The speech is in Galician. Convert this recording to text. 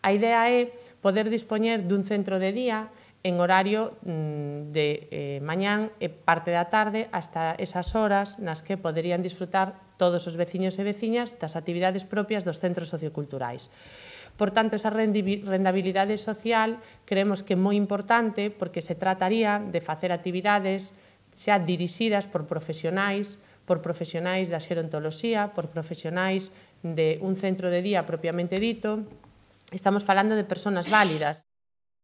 A idea é poder dispoñer dun centro de día en horario de mañán e parte da tarde hasta esas horas nas que poderían disfrutar todos os veciños e veciñas das actividades propias dos centros socioculturais. Por tanto, esa rendabilidade social creemos que é moi importante porque se trataría de facer actividades xa dirixidas por profesionais da xerontoloxía, por profesionais de un centro de día propiamente dito. Estamos falando de persoas válidas.